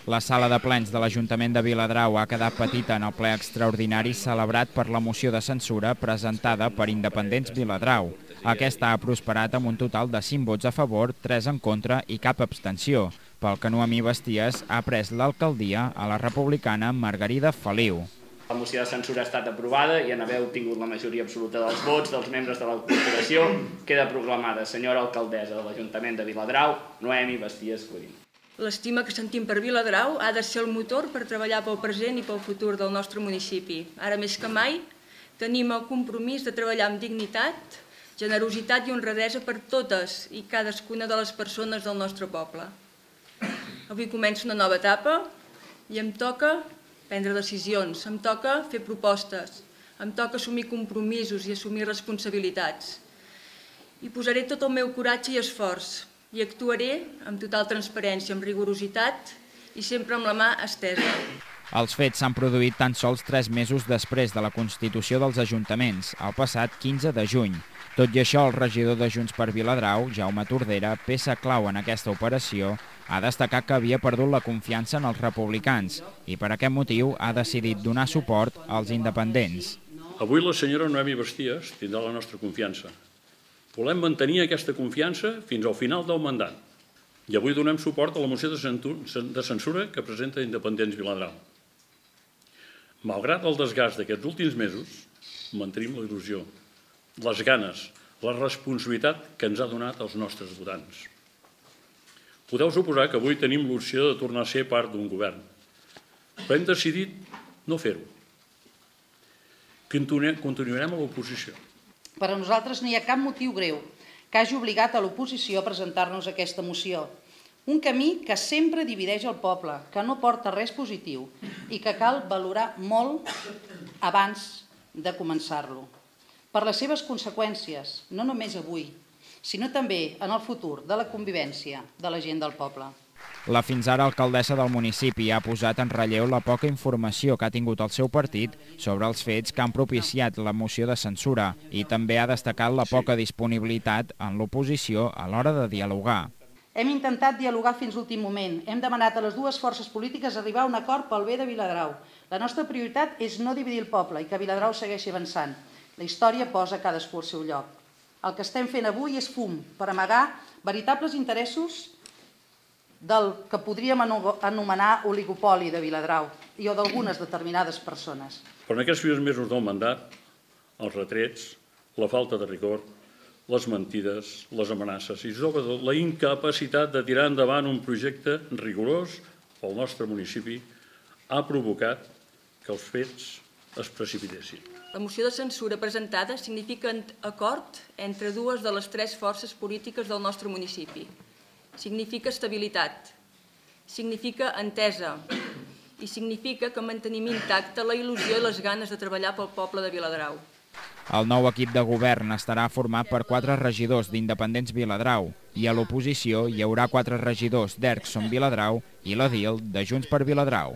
La sala de plens de l'Ajuntament de Viladrau ha quedat petita en el ple extraordinari celebrat per la moció de censura presentada per Independents Viladrau. Aquesta ha prosperat amb un total de 5 vots a favor, 3 en contra i cap abstenció. Pel que Noemí Basties ha pres l'alcaldia a la republicana Margarida Feliu. La moció de censura ha estat aprovada i en haver obtingut la majoria absoluta dels vots dels membres de la corporació, queda proclamada senyora alcaldessa de l'Ajuntament de Viladrau, Noemí Basties Codina. L'estima que sentim per Viladrau ha de ser el motor per treballar pel present i pel futur del nostre municipi. Ara més que mai tenim el compromís de treballar amb dignitat, generositat i honradesa per totes i cadascuna de les persones del nostre poble. Avui comença una nova etapa i em toca prendre decisions, em toca fer propostes, em toca assumir compromisos i assumir responsabilitats. I posaré tot el meu coratge i esforç i actuaré amb total transparència, amb rigorositat i sempre amb la mà estesa. Els fets s'han produït tan sols 3 mesos després de la constitució dels ajuntaments, el passat 15 de juny. Tot i això, el regidor de Junts per Viladrau, Jaume Tordera, peça clau en aquesta operació, ha destacat que havia perdut la confiança en els republicans i per aquest motiu ha decidit donar suport als independents. Avui la senyora Noemí Basties tindrà la nostra confiança. Volem mantenir aquesta confiança fins al final del mandat i avui donem suport a la moció de censura que presenta Independents Viladrau. Malgrat el desgast d'aquests últims mesos, mantenim la il·lusió, les ganes, la responsabilitat que ens ha donat els nostres votants. Podeu suposar que avui tenim l'opció de tornar a ser part d'un govern, però hem decidit no fer-ho. Continuarem a l'oposició. Per a nosaltres no hi ha cap motiu greu que hagi obligat a l'oposició a presentar-nos aquesta moció. Un camí que sempre divideix el poble, que no porta res positiu i que cal valorar molt abans de començar-lo. Per les seves conseqüències, no només avui, sinó també en el futur de la convivència de la gent del poble. La fins ara alcaldessa del municipi ha posat en relleu la poca informació que ha tingut el seu partit sobre els fets que han propiciat la moció de censura i també ha destacat la poca disponibilitat en l'oposició a l'hora de dialogar. Hem intentat dialogar fins l'últim moment. Hem demanat a les dues forces polítiques arribar a un acord pel bé de Viladrau. La nostra prioritat és no dividir el poble i que Viladrau segueixi avançant. La història posa cadascú al seu lloc. El que estem fent avui és fum per amagar veritables interessos del que podríem anomenar oligopoli de Viladrau i o d'algunes determinades persones. Però en aquests primers mesos del mandat, els retrets, la falta de rigor, les mentides, les amenaces i sobretot la incapacitat de tirar endavant un projecte rigorós pel nostre municipi ha provocat que els fets es precipitessin. La moció de censura presentada significa acord entre dues de les 3 forces polítiques del nostre municipi. Significa estabilitat, significa entesa i significa que mantenim intacta la il·lusió i les ganes de treballar pel poble de Viladrau. El nou equip de govern estarà format per 4 regidors d'Independents Viladrau i a l'oposició hi haurà 4 regidors d'Ercson Viladrau i l'edil de Junts per Viladrau.